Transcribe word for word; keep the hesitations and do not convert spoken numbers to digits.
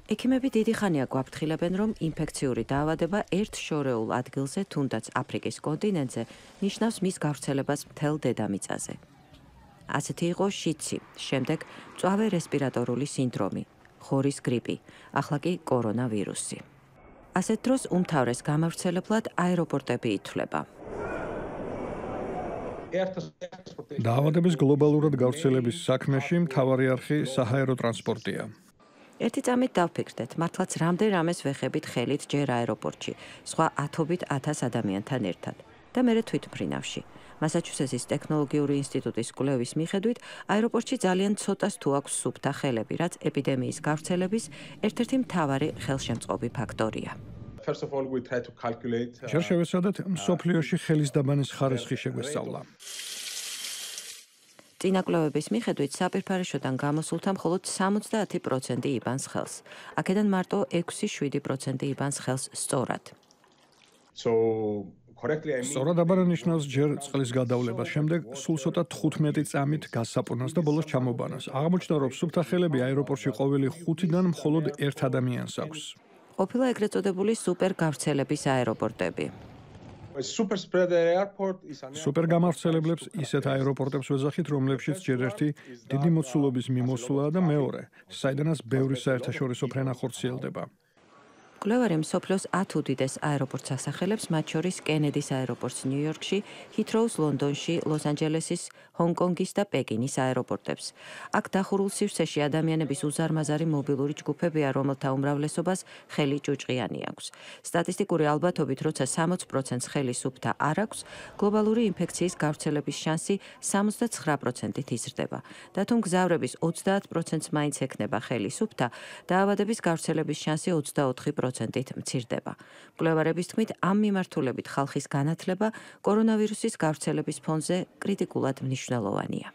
ექიმები დიდი ხანია გვაფრთხილებენ, რომ ინფექციური დაავადება ერთ შორეულ ადგილზე, თუნდაც აფრიკის კონტინენტზე, ნიშნავს მის გავრცელებას მთელ დედამიწაზე. ასეთი იყო შიცი, შემდეგ მწვავე რესპირატორული სინდრომი, ხორის გრიპი, ახლა კი კორონავირუსი. ასეთ დროს უმთავრეს გამავრცელებლად აეროპორტები ითვლება. დაავადების გლობალურად გავრცელების საქმეში მთავარი არხი საჰაერო ტრანსპორტია. ერთი წამით დავფიქრდეთ, მართლაც რამდენ რამეს ვეხებით ხელით ჯერ აეროპორტში, სხვა ათობით ათას ადამიანთან ერთად და მერე თვითმფრინავში. მასაჩუსეტსის ტექნოლოგიური ინსტიტუტის კვლევის მიხედვით, აეროპორტში ძალიან ცოტას თუ აქვს სუფთა ხელები, რაც ეპიდემიის გავრცელების ერთ-ერთი მთავარი ხელშემწყობი ფაქტორია. ჯერ შევეცადეთ მსოფლიოში ხელის დაბანის ხარისხი შეგვესწავლა. წინა კვლევების მიხედვით, საპირფარეშოდან გამოსულთა მხოლოდ სამოცდაათი პროცენტი იბანს ხელს. აქედან მარტო ექვსი შვიდი დეტალ პროცენტი იბანს ხელს სწორად. სწორად აბარა ნიშნავს ჯერ წყლის გადავლებას, შემდეგ სულ ცოტა თხუთმეტი წამით გასაპონას და ბოლოს ჩამობანას. აღმოჩნდა, რომ სუფთა ხელები აეროპორტში ყოველი ხუთიდან მხოლოდ ერთ ადამიანს აქვს. ყოფილა ეგრეთ წოდებული სუპერ გავრცელების აეროპორტები. სუპერ გამავრცელებლებს ისეთ აეროპორტებს ვეძახით, რომლებშიც ჯერ ერთი დიდი მოცულობის მიმოსვლაა და მეორე, საიდანაც ბევრი საერთაშორისო ფრენა ხორციელდება. კვლევარი მსოფლიოს ათ უდიდეს აეროპორტს ასახელებს, მათ შორის კენედის აეროპორტს ნიუ-იორკში, ჰითროუს ლონდონში, ლოს-ანჯელესის, ჰონგ-კონგის და პეკინის აეროპორტებს. აქ დახურულ სივრცეში ადამიანების უზარმაზარი მობილური ჯგუფებია, რომელთა უმრავლესობას ხელი ჭუჭყიანი აქვს. სტატისტიკური ალბათობით, როცა სამოც პროცენტს ხელი სუფთა არ აქვს, გლობალური ინფექციის გავრცელების შანსი სამოცდაცხრა პროცენტით იზრდება. და თუ მგზავრების ოცდაათ პროცენტს მაინც ექნება ხელი სუფთა, დაავადების გავრცელების შანსი ოცდაოთხი პროცენტით მცირდება. მკვლევარების თქმით, ამ მიმართულებით ხალხის განათლება კორონავირუსის გავრცელების ფონზე კრიტიკულად მნიშვნელოვანია.